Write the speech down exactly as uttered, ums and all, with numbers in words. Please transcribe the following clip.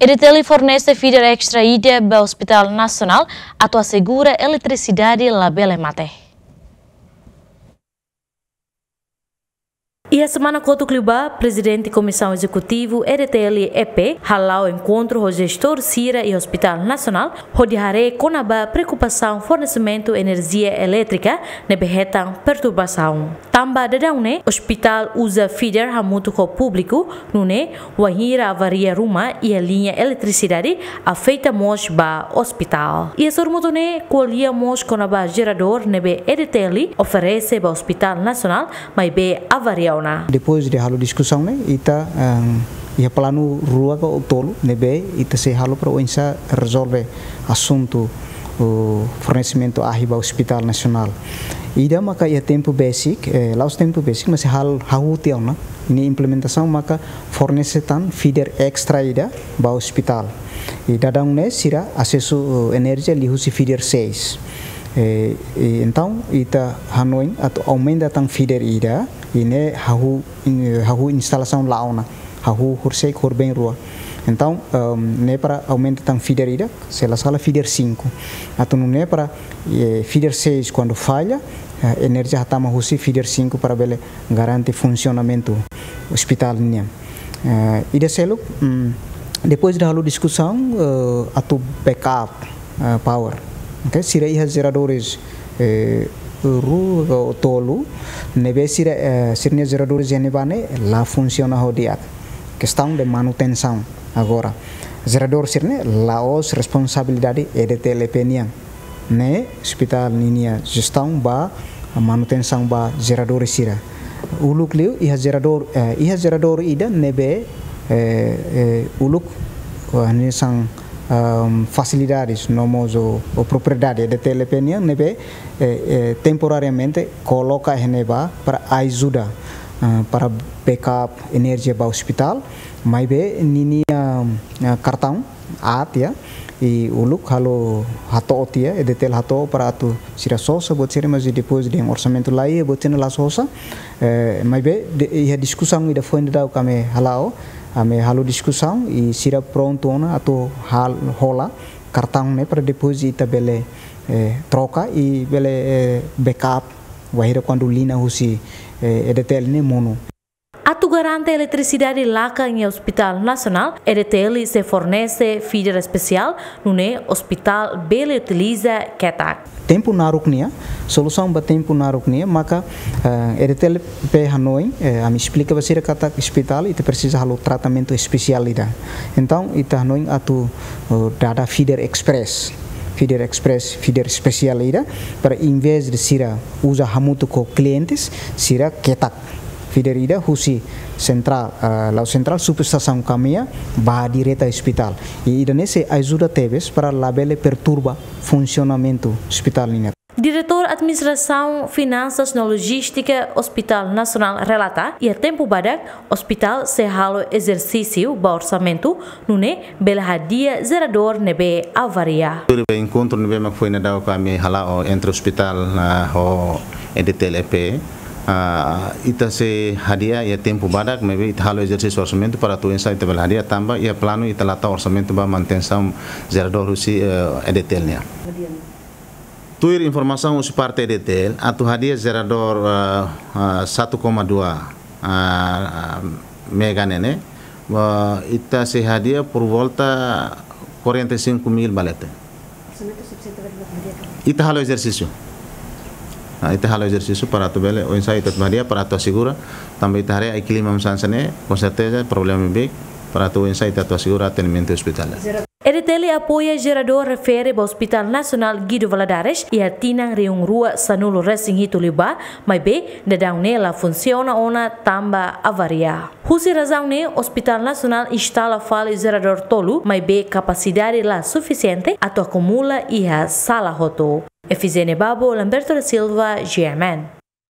EDTL fornese feeder extra ida ba Hospital Nasionál atu asegura eletrisidade labele mate. Iha semana kotuk liubá, Prezidente Komisaun Ezekutiva EDTL EP hala'o enkontru ho jestór sira iha Hospital Nasionál, hodi haree kona-ba preokupasaun fornesimentu enerjia elétrika ne'ebé hetan perturbasaun. Tanba daudaun ne'e, ospitál uza feeder hamutuk ho públiku, nune'e wainhira avaria ruma iha liña eletrisidade, afeta mós ba ospitál. Iha sorumutu ne'e ko'alia mós kona-ba jeradór ne'ebé EDTL oferese ba Hospital Nasionál, maibé avaria ona. Depois de halo diskusaun ne'e, ita, ehm, iha planu rua ka tolu ne'ebé ita sei halo para oinsá rezolve asuntu, o, fornesimentu ahi ba Hospital Nasionál. Ida maka iha tempu besik, eh, la'ós tempu besik, mas hal hahú tiha ona, ninia implementasaun maka fornese tan feeder extra ida ba ospitál. I daudaun ne'e sira asesu, eh, enerjia liuhusi feeder seis. Eh, i entaun ita hanoin atu aumenta tan feeder ida, i ne'e hahú, eh, hahú instalasaun la'o ona, hahú horisehik, horibeen rua. Entaun, ehm, ne'e para aumenta tan feeder ida, se la sala feeder cinco. Atu nune'e para, eh, feeder seis kuandu falla, eh, enerjia hatama husi feeder cinco para bele garante funsionamentu ospitál nian. Eh, ida seluk, mm, depois de halo diskusaun, eh, atu backup, eh, power. Ok, sira iha jeradores, eh, rua ka tolu, ne'ebé sira, eh, sira-nia jeradores iha ne'ebá ne'e la funsiona ho di'ak. Kestaun de manutensaun. Agora, jeradór sira-ne'e la'ós responsabilidade EDTL EP nian. Ne'e ospitál ninia jestaun ba manutensaun ba jeradór sira. Uluk liu iha jeradór, eh, iha jeradór ida ne'ebé, eh, eh, uluk, eh, hanesan, ehm, fasilidades no mós o, o propriedade EDTL EP nian ne'ebé, eh, eh, temporariamente koloka iha ne'ebá para ajuda, eh, para backup enerjia ba ospitál, maibé ninia, eh, kartaun aat tiha, i uluk halo hato'o tiha, EDTL hato'o para atu sira sosa buat sira, mas depois dehan orsamentu la iha, buat sira-ne'e la sosa, eh, maibé de, iha diskusaun ida foin daudauk ami hala'o, ami halo diskusaun, i sira prontu ona atu hal-, hola kartaun ne'e para depois ita bele, eh, troka i bele, eh, backup, wainhira kuandu liña husi, eh, EDTL ne'e monu. Atu garante eletrisidade lakan iha Hospital Nasionál, EDTL sei fornese feeder espesiál, nune'e ospitál bele utiliza ketak. Tempu naruk nian, solusaun ba tempu naruk nian, maka, eh, EDTL EP hanoin, eh, ami esplika ba sira katak ospitál, ita presiza halo tratamentu espesiál ida. Entaun, ita hanoin atu, eh, dada feeder express, feeder express, feeder espesiál ida, para envezde sira uza hamutuk ho klientes, sira ketak feeder ida husi sentrál, ah, la'ós sentrál, subestasaun Kamea, ba direta ospitál. I ida-ne'e sei ajuda tebes para labele perturba funsionamentu ospitál nian. Diretór Administrasaun, Finansas no Lojístika Hospital Nasionál relata, iha tempu badak, ospitál sei halo ezersísiu ba orsamentu, nune'e bele hadi'a jeradór ne'ebé avaria. Tuir enkontru ne'ebé mak foin daudauk ami hala'o entre ospitál, ah, ho EDTL EP, ah, ita sei hadi'a iha tempu badak, maibé ita halo ezersísiu orsamentu para atu oinsá ita bele hadi'a tanba iha planu ita la tau orsamentu ba manutensaun jeradór husi, eh, EDTL nian. Tuir informasaun husi parte EDTL, atu hadi'a jeradór, ah, ah, satu koma dua, ah, ah, mega ne'e ne'e, ah, ita sei hadi'a por volta quarenta e cinco mil ba leten. Ita halo ezersísiu. Ah, ita halo ezersísiu para atu bele, oinsá ita atu hadi'a para atu asegura, tanba ita haree ai klima hanesan ne'e, com certeza problema big, para atu oinsá ita atu asegura atendimentu ospitál. EDTL apoia jeradór refere ba Hospital Nasionál Guido Valadares iha tinan rihun rua sanulu resin hitu liubá, maibé daudaun ne'e la funsiona ona tanba avaria. Husi razaun ne'e, Hospital Nasionál instala fali jeradór tolu, maibé kapasidade la sufisiente atu akumula iha sala hotu. Efizénia Babo, Lamberto da Silva, G M N.